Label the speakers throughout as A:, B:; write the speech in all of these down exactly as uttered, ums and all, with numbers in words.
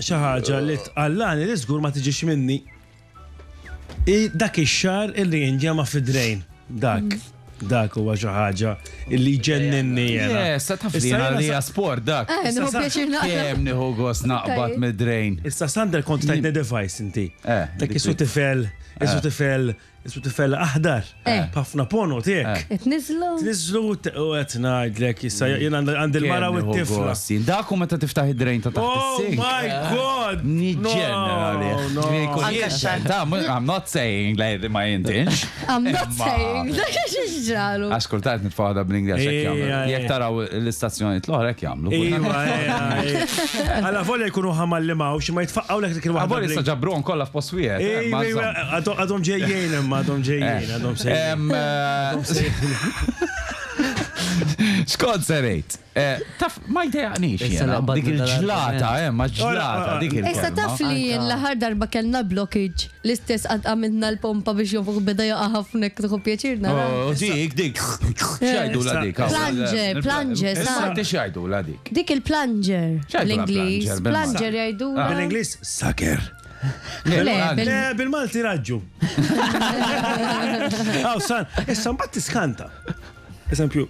A: xi ħaġa li tqallani li żgur ma tiġix minni. I dak ix-xagħar illi jinġema fid-drain. Dak. Dak huwa xi ħaġa illi jġenninni jiena.
B: Yes, taf li
A: Issa
B: jiena
A: jiena
B: li
A: sa-
B: sport dak.
C: Eh, nieħu pjaċir naqra.
B: Kemm nieħu gost naqbad mid-drain.
A: Issa, Sander, kont tajtni device inti.
B: Eh,
A: Dak
B: dik
A: isu
B: dik.
A: tifel, isu tifel, isu tifel aħdar.
C: Eh.
A: Ħafna pono tiegħek.
C: Tniżlu.
A: Tniżlu u qed ngħidlek issa jien għandi l-mara u t-tifla.
B: Dak u meta tiftaħ id-drain ta' taħt
A: Oh
B: is-sink.
A: my God!
B: Niġġenna għalih.
A: No, no.
B: I'm not saying like my intention.
C: I'm not
B: Imma-
C: saying. Dak x'ġralu.
B: Għax kultant nitfaħda bl-Ingliż hekk
A: Ejja,
B: jagħmlu.
A: ejja.
B: Jekk taraw l-istazzjonijiet l-oħra hekk jagħmlu.
A: Iva, ejja, ejja. Alla volja jkunu ħamalli mawx, ma jitfaqqaw lek dik il-waħda.
B: Għabor issa ġabruhom kollha f'post wieħed. eh,
A: Ejja,
B: ma
A: ejja,
B: insomma.
A: għadhom għadhom ġejjin imma, għadhom ġejjin, għadhom sejjin.
B: Em, eh, X'kont se ngħid? Eh, Taf, ma jdejaqnix
D: Issa
B: jiena.
D: naqbad
B: Dik il-ġlata, eh, ma ġlata, dik il
C: Issa taf li jien l-aħħar darba kellna blockage. L-istess għad għamilna l-pompa biex jonfuq, beda jaqa' ħafna, tieħu pjaċir nara.
B: Oh, dik, dik. X'jgħidu la dik?
C: Plunger, plunger, sa.
B: Issa x'jgħidu la dik?
C: Dik il-plunger.
B: X'jgħidu la
C: Bl-Ingliż.
B: plunger bil-Malti?
C: Plunger jgħidu.
A: Bil-Ingliż, sucker.
C: Le, bil-
A: Le, bil-Malti raġġu. Aw, san, issa mbagħad tiskanta. Eżempju,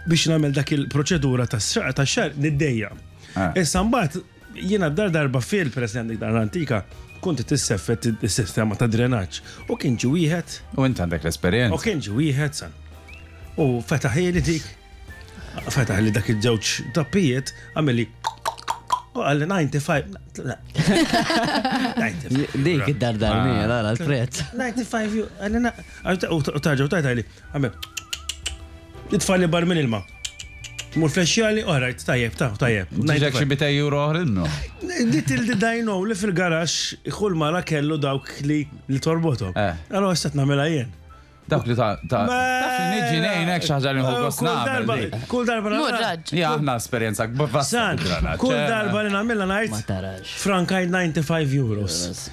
A: biex nagħmel dak il-proċedura tax-xagħar niddejja.
B: Ah.
A: Issa mbagħad jiena dar darba fil president dik dar antika kont tisseffet is-sistema ta' drenaġġ u kien ġi wieħed
B: U int għandek
A: u
B: l-esperjenza.
A: kien ġi wieħed, san. U fetaħli dik fetaħ li dak il-ġewġ tappijiet, għamilli u qalli disgħa u disgħin. La. disgħa u disgħin.
D: Dik id-dardar mija, la l-prezz.
A: disgħa u disgħin ju- qalli na- u tarġa u tajta li għamil itfalli bar minn ilma. Mur flexjali, alright, tajjeb, ta' tajjeb.
B: Ġiġek xi mitejn euro oħra.
A: Little did I know li fil-garax kull mara kellu dawk li li torbotom.
B: Eh.
A: Allora issa nagħmilha jien.
B: Dawk li ta' ta' taf li niġi ngħinek xi ħaġa li nħu gost
A: Kull
B: nagħmel
A: darba,
B: dik.
A: kull darba
E: Mur
A: nagħmilha.
E: raġ.
B: Ja, aħna esperjenza kbasta.
A: San, kull darba li nagħmilha
D: Ma
A: ngħid
D: tarax.
A: frankaj disgħa u disgħin euros.